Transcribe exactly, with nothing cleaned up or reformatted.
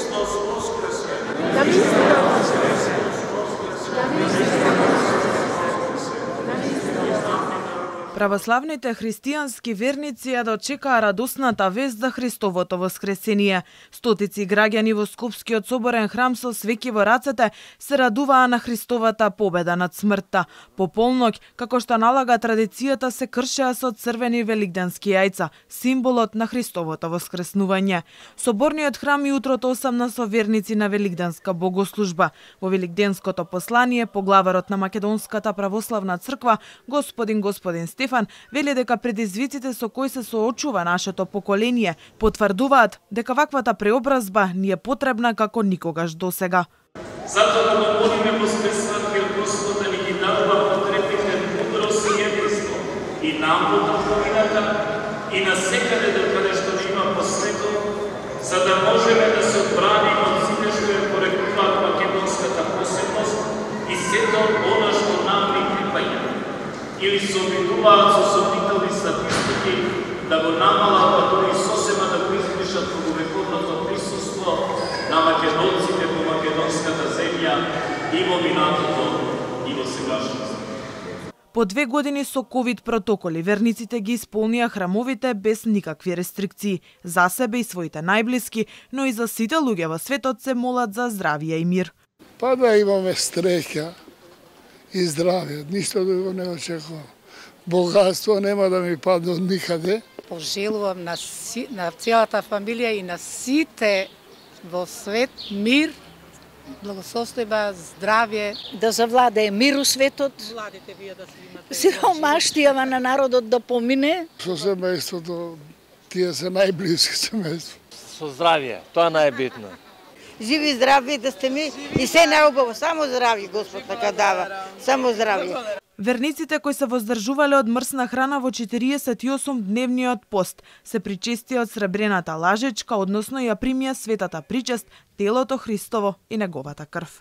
Христос воскресе! Да ви Православните христијански верници ја дочекаа радосната вест за Христовото воскресение. Стотици граѓани во Скопскиот соборен храм со свеќи во рацете се радуваа на Христовата победа над смртта. По полноќ, како што налага традицијата, се кршеа со црвени великденски јајца, символот на Христовото воскреснување. Соборниот храм и утрото осамна со верници на великденска богослужба. Во великденското послание поглаварот на Македонската православна црква, господин господин Стефан, вели дека предизвиците со кои се соочува нашето поколение потврдуваат дека ваквата преобразба ни е потребна како никогаш досега. Затоа го молиме воскреснатиот Господ да ни ги дарува потребните мудрост и единство и нам во трговината и на секаде докаде што има по светот, за да можеме да се одбраниме од сите што ја порекуваат македонската посебност и сето она што нам ни припаѓа. Или се обидуваат со сомнителни статистики да го намалат, па дури сосема да го измишат многовековното присуство на македонците во македонската земја и во минатото и во сегашност. По две години со ковид протоколи, верниците ги исполнија храмовите без никакви рестрикции. За себе и своите најблиски, но и за сите луѓе во светот се молат за здравје и мир. Па да имаме среќа и здравје, ништо друго не очекувам. Богатство нема да ми падне од никаде. Пожелувам на, си, на целата фамилија и на сите во свет мир, благосостојба, здравје. Да завладее мир у светот. Владите вие да се имате. Сиромаштијава на народот да помине. Со семејството, тие се најблиски семејство. Со здравје, тоа најбитно. Живи здрави да сте ми и се наубаво, само здрави Господ така дава, само здрави. Верниците кои се воздржувале од мрсна храна во четириесет и осум дневниот пост се причестија од сребрената лажечка, односно ја примија светата причест, телото Христово и неговата крв.